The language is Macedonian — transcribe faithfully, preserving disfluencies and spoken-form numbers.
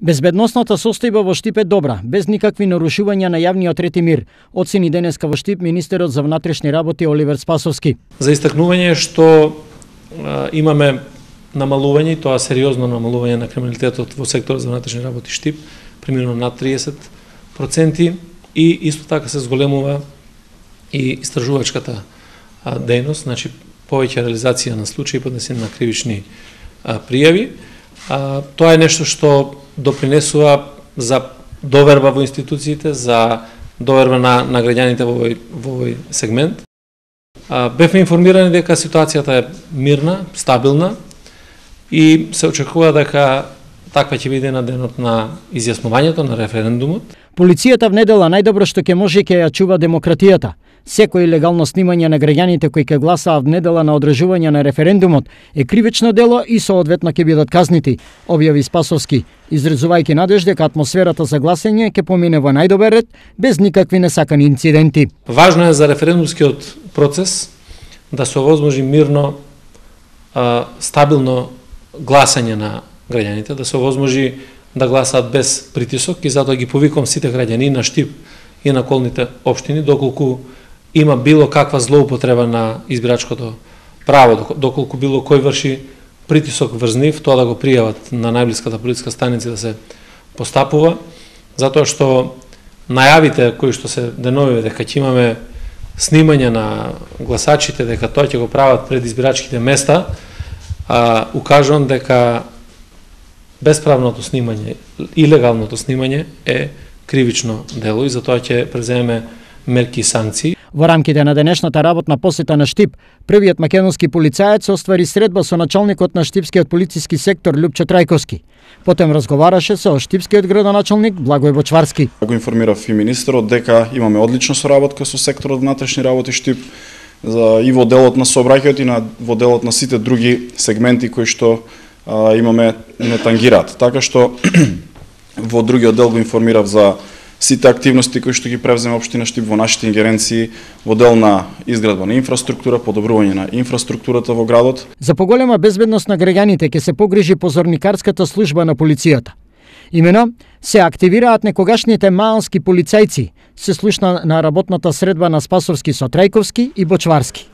Безбедносната состојба во Штип е добра, без никакви нарушувања на јавниот ред и мир, оцени денеска во Штип министерот за внатрешни работи Оливер Спасовски. За истакнување е што а, имаме намалување, и тоа сериозно намалување на криминалитетот во секторот за внатрешни работи Штип, примерно над триесет проценти, и исто така се зголемува и истражувачката а, дејност, значи повеќе реализација на случаи поднесени на кривични а, пријави. А, тоа е нешто што допринесува за доверба во институциите, за доверба на, на граѓаните во овој, во овој сегмент. А, бевме информирани дека ситуацијата е мирна, стабилна и се очекува дека таква ќе биде на денот на изјаснувањето на референдумот. Полицијата внедела најдобро што ќе може ќе ја чува демократијата. Секој легално снимање на граѓаните кои ќе гласаат внедела на одржување на референдумот е кривично дело и соодветно ќе бидат казнити, објави Спасовски, изразувајќи надеж дека атмосферата за гласање ќе помине во најдобар ред, без никакви несакани инциденти. Важно е за референдумскиот процес да се овозможи мирно, стабилно гласање на граѓаните, да се овозможи да гласаат без притисок, и затоа ги повикувам сите граѓани на Штип и на околните општини, доколку има било каква злоупотреба на избирачкото право, доколку било кој врши притисок врз нив, тоа да го пријават на најблиската полициска станица да се постапува, затоа што најавите кои што се деновиве дека ќе имаме снимање на гласачите, дека тоа ќе го прават пред избирачките места, а, укажувам дека бесправното снимање, илегалното снимање е кривично дело и затоа ќе преземеме мерки и санкции. Во рамките на денешната работна посета на Штип, првиот македонски полицаец оствари средба со началникот на Штипскиот полициски сектор Љупчо Трајковски. Потем разговараше со Штипскиот градоначалник Благој Бочварски. Го информирав и министерот дека имаме одлична соработка со секторот внатрешни работи Штип, за и во делот на сообраќајот и на во делот на сите други сегменти кои што а, имаме не тангираат. Така што во другиот дел го информирав за сите активности кои што ги превземе општина Штип во нашите ингеренции во дел на изградба на инфраструктура, подобрување на инфраструктурата во градот. За поголема безбедност на граѓаните ќе се погрижи позорникарската служба на полицијата. Имено, се активираат некогашните маалски полицајци, се слушна на работната средба на Спасовски со Трајковски и Бочварски.